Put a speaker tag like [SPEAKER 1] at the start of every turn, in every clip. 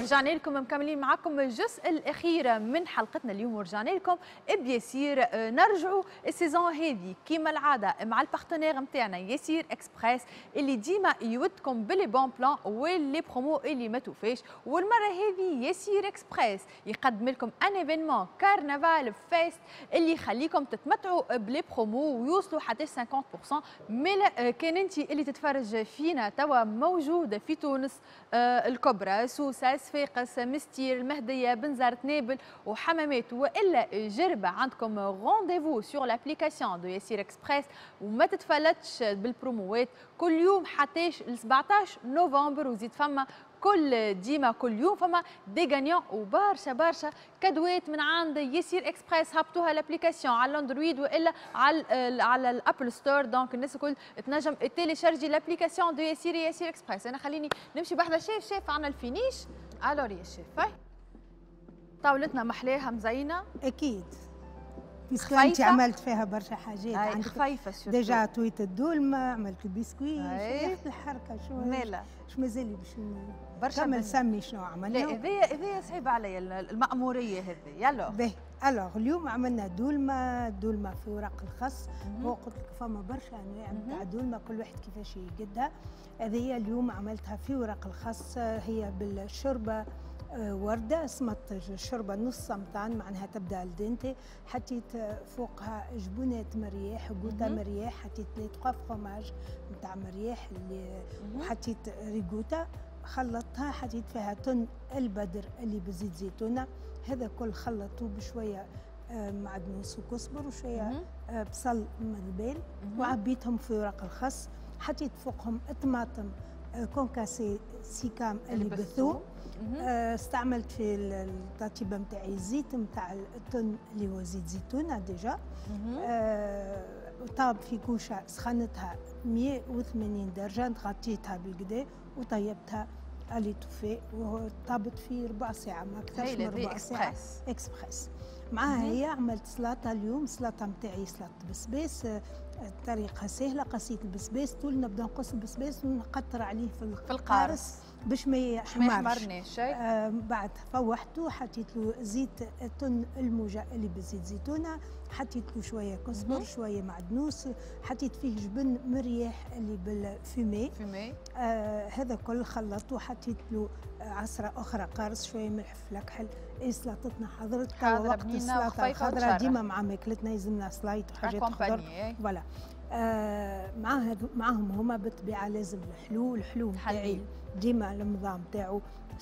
[SPEAKER 1] ورجعنا لكم مكملين معكم الجزء الاخير من حلقتنا اليوم، ورجعنا لكم بيسير. نرجعوا ال saison هذه كيما العادة مع ال partenaire نتاعنا يسير اكسبريس، اللي ديما يودكم ب les bons plans و les promos اللي ما توفاش. والمرة هذه يسير اكسبريس يقدم لكم un événement carnaval fest اللي يخليكم تتمتعوا ب les promos ويوصلوا حتى 50%. mais كان انت اللي تتفرج فينا توا موجودة في تونس الكبرى، سوسه، صفاقس، مستير، المهديه، بنزرت، نابل وحمامات والا جربه، عندكم rendez-vous sur l'application de ياسير اكسبريس وما تتفلتش بالبروموات كل يوم حتى ل 17 نوفمبر. وزيد فما كل ديما كل يوم فما des gagnants وبرشا برشا كادوات من عند يسير اكسبريس. هبطوها l'application على ال Android والا على ال Apple Store، donc الناس الكل تنجم télécharger l'application de يسير ياسير اكسبريس. انا خليني نمشي بحذا chef. chef، عندنا ال finish. alors يا شيف، هاي طاولتنا محلاها مزينه.
[SPEAKER 2] اكيد، puisque انت عملت فيها برشا حاجات.
[SPEAKER 1] عندك خفيفه.
[SPEAKER 2] déjà تويت الدولمه، عملت البسكويت، الحركة شو
[SPEAKER 1] مالا.
[SPEAKER 2] شو مازال باش برشا؟ كمل، سمي شنو عملنا.
[SPEAKER 1] لا، هذيا صعيبة عليا المأموريه هذه، يلا.
[SPEAKER 2] باهي، alors اليوم عملنا دولمه، دولمه في ورق الخس. هو قلت لك فما برشا انواع نتاع دولمه، كل واحد كيفاش يقدها. هذه اليوم عملتها في ورق الخس، هي بالشوربه ورده، سمط الشوربة نص سمطان، معناها تبدا al dente. حطيت فوقها جبونات مرياح، قوطه مرياح، حطيت les trois fromages نتاع مرياح اللي وحطيت ريغوتا، خلطتها، حطيت فيها تن البدر اللي بزيت زيتونه. هذا كل خلطته بشوية معدنوس وكزبر وشوية بصل مذبل، وعبيتهم في ورق الخس. حطيت فوقهم طماطم concassé سيكام اللي بالثوم. استعملت في التطيبه نتاعي الزيت نتاع التن اللي هو زيت زيتونه déjà. طاب في كوشة سخنتها 180 درجه، غطيتها بالقدا وطيبتها à l'étouffée، وطابت في ربع ساعه، ما اكثرش من ربع ساعه. اكسبريس معاها هي عملت سلطة اليوم. سلطة نتاعي سلطة بسباس، طريقه سهله. قصيت البسباس طول، نبدا نقص البسباس ونقطر عليه في
[SPEAKER 1] القارص
[SPEAKER 2] باش ما يحمرش. بعد فوحته، حطيت له زيت التن الموجة اللي بزيت زيتونه، حطيت له شوية كزبر، شوية معدنوس، حطيت فيه جبن مرياح اللي بال fumé.
[SPEAKER 1] fumé.
[SPEAKER 2] هذا كل خلطته، حطيت له عصره اخرى قارص، شوية ملح فلكحل. إيه، سلطتنا حضرت توا. وقت السلطة الخضراء ديما مع ماكلتنا يلزمنا سلايط وحاجات خضر، voilà. مع معهم هما بالطبيعة لازم الحلو. الحلو نتاعي ديما المضام تاعو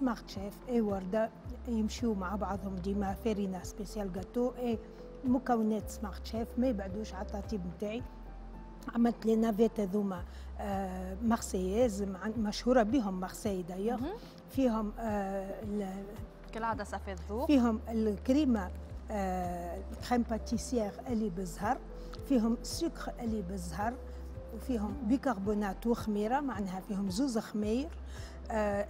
[SPEAKER 2] Smart Chef et ورده، يمشيو مع بعضهم ديما. فارينه spéciale gâteau et مكونات Smart Chef ما يبعدوش على التطيب نتاعي. عملت les navettes هذوما marseillaises، مشهورة بهم مارسيي d'ailleurs. فيهم
[SPEAKER 1] كالعادة صافي الذوق.
[SPEAKER 2] فيهم الكريمه crème pâtissière اللي بالزهر، فيهم سكر اللي بالزهر، وفيهم بيكربونات وخميره، معناها فيهم زوز خمير.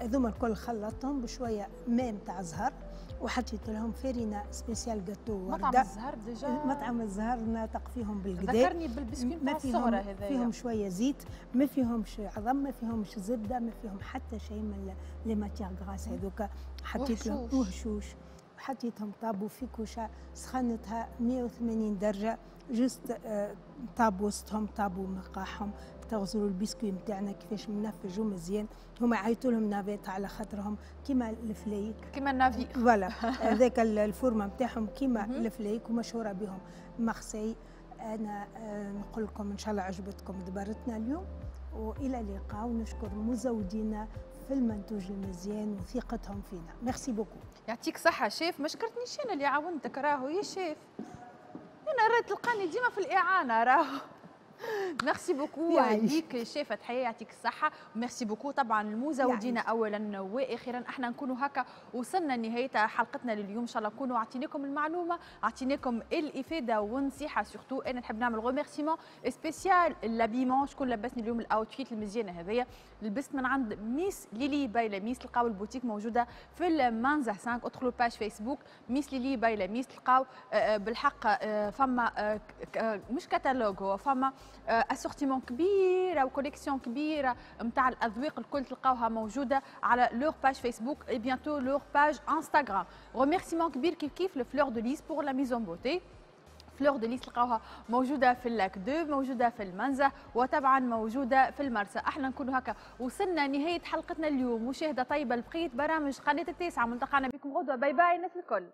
[SPEAKER 2] هذوما الكل خلطتهم بشوية ماء نتاع زهر وحطيت لهم فارينه spéciale gâteau.
[SPEAKER 1] مطعم الزهر déjà.
[SPEAKER 2] مطعم الزهر ناطق فيهم بالقدا.
[SPEAKER 1] ذكرني بالبسكويت نتاع الصغرى هذايا.
[SPEAKER 2] فيهم شوية زيت، ما فيهمش عظم، ما فيهمش زبده، ما فيهم حتى شيء من les matières grasses هذوك. حطيت لهم وهشوش. حطيتهم طابوا في كوشة سخنتها 180 درجه juste. طاب وسطهم، طابوا مقاحهم. تغزروا البسكوي نتاعنا كيفاش منفج ومزيان. هما عيطوا لهم navettes على خاطرهم كيما الفليك.
[SPEAKER 1] كيما ال navire.
[SPEAKER 2] voilà، هذاك ال forme نتاعهم كيما الفليك، ومشهوره بهم مارسي. انا نقول لكم ان شاء الله عجبتكم دبرتنا اليوم، والى اللقاء، ونشكر مزودينا في المنتوج المزيان وثقتهم فينا. merci beaucoup.
[SPEAKER 1] يعطيك صحة شيف. ما شكرتنيش انا اللي عاونتك راهو يا شيف. انا راه تلقاني ديما في الاعانة راهو. merci beaucoup ليك شيف فتحيه، يعطيك الصحه. merci beaucoup طبعا المزودين اولا واخيرا. احنا نكونوا هكا وصلنا لنهاية حلقتنا لليوم. ان شاء الله نكونوا اعطيناكم المعلومه، اعطيناكم الافادة والنصيحة surtout. انا نحب نعمل remerciement spécial l'habillement، شكون لبسني اليوم ال outfit المزيانه هذيا. لبست من عند ميس ليلي by لميس، تلقاو البوتيك موجودة في المنزه 5. ادخلوا page فيسبوك ميس ليلي by لميس تلقاو بالحق فما مش كتالوج، هو فما assortiment كبيرة و collection كبيرة نتاع الاذواق الكل تلقاوها موجودة على leur page Facebook et bientôt leur page Instagram. remerciement كبير كيف كيف ل Fleur de Lys pour la mise en beauté. Fleur de Lys تلقاوها موجودة في ال Lac 2، موجودة في المنزه، وطبعا موجودة في المرسى. احنا نكونوا هكا وصلنا نهاية حلقتنا اليوم. مشاهده طيبة لبقية برامج قناة التاسعة، ملتقانا بكم غدوه. bye bye الناس الكل.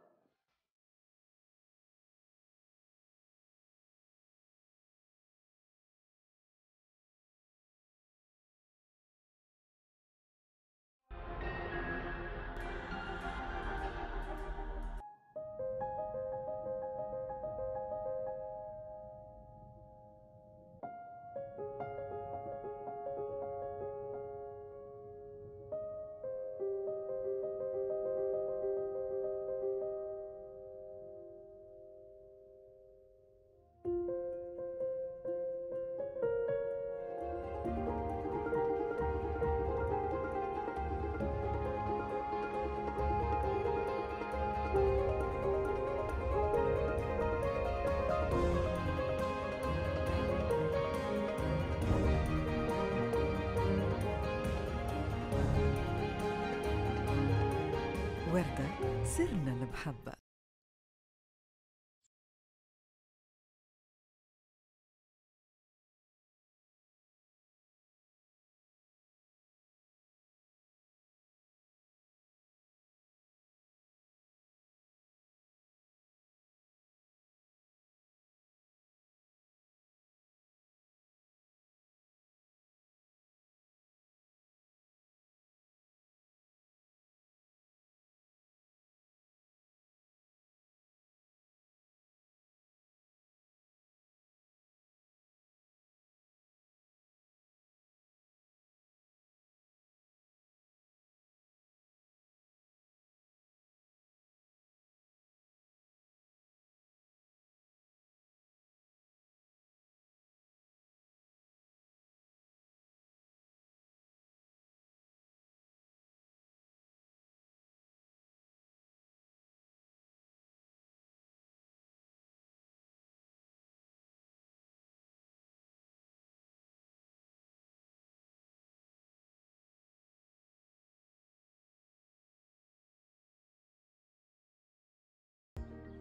[SPEAKER 3] وردة سرنا المحبة.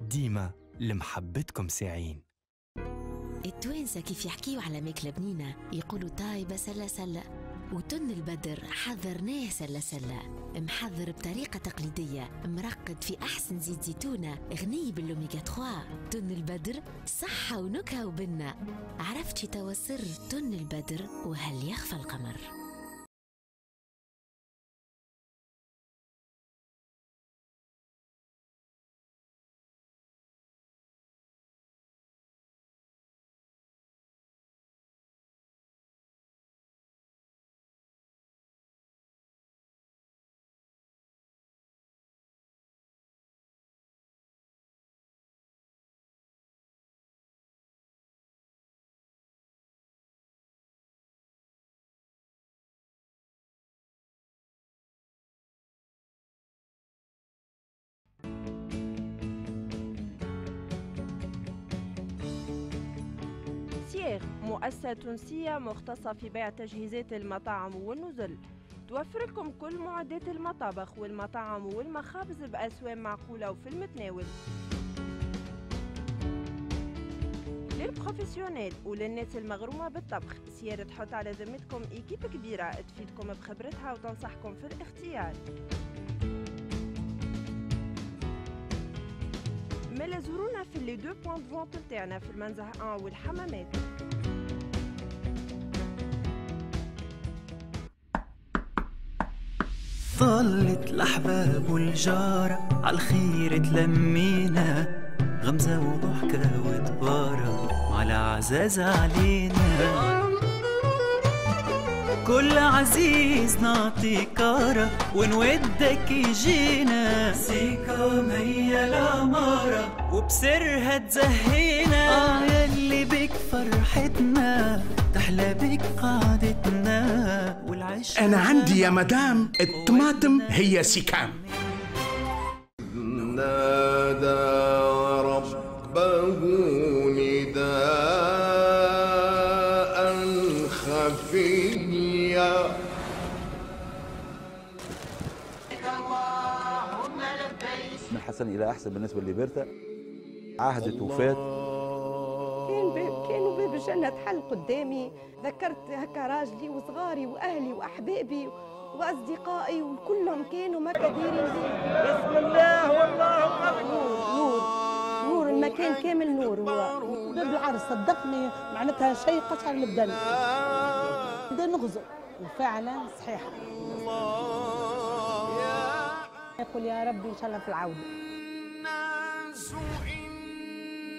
[SPEAKER 4] ديما لمحبتكم ساعين.
[SPEAKER 5] التوانسة كيف يحكيوا على ماكلة بنينة يقولوا طايبة سلة سلة، وتن البدر حذرناه سلة سلة، محذر بطريقة تقليدية، مرقد في أحسن زيت زيتونة، غني بالأوميغا 3. تن البدر صحة ونكهة وبنة. عرفتي توا سر تن البدر وهل يخفى القمر؟
[SPEAKER 6] مؤسسة تونسية مختصة في بيع تجهيزات المطاعم والنزل، توفر لكم كل معدات المطابخ والمطاعم والمخابز بأسوام معقولة وفي المتناول. لل professionnels وللناس المغرومة بالطبخ، سيارة تحط على ذمتكم équipe كبيرة تفيدكم بخبرتها وتنصحكم في الاختيار. مالا زورونا في les deux points de vente تاعنا في المنزه 1 والحمامات.
[SPEAKER 7] طلت الأحباب والجارة عالخير تلمينا، غمزة وضحكة وتبارة وعلى عزاز علينا. كل عزيز نعطي كارة ونودك يجينا، سيكام هي العمارة وبسرها تزهينا. يلي بك فرحتنا تحلى بك قعدتنا والعيش.
[SPEAKER 8] أنا عندي يا مدام الطماطم هي سيكام.
[SPEAKER 9] نادى ربه نداء.
[SPEAKER 8] فيا.
[SPEAKER 9] من حسن إلى أحسن بالنسبة لبرتا، عهدت وفات.
[SPEAKER 10] كانوا باب الجنة تحل قدامي، ذكرت هكا راجلي وصغاري وأهلي وأحبابي وأصدقائي وكلهم كانوا ما كديرين بي.
[SPEAKER 11] بسم الله والله أكبر.
[SPEAKER 10] نور نور المكان كامل نور. هو
[SPEAKER 2] باب العرس صدقني معناتها شيء قشعر البدن، بدا نغزو وفعلا صحيحة. يقول يا ربي إن شاء الله في العودة.
[SPEAKER 8] الناس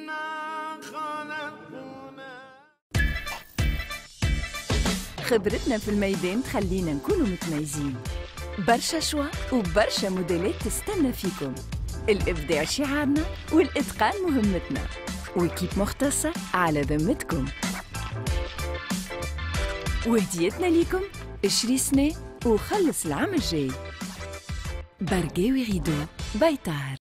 [SPEAKER 8] إنا خلقنا.
[SPEAKER 3] خبرتنا في الميدان تخلينا نكونوا متميزين. برشا choix وبرشا موديلات تستنى فيكم. الإبداع شعارنا والإتقان مهمتنا، و équipe مختصة على ذمتكم. وهديتنا ليكم اشري سنة وخلص العام الجاي. برقاوي rideaux بيطار.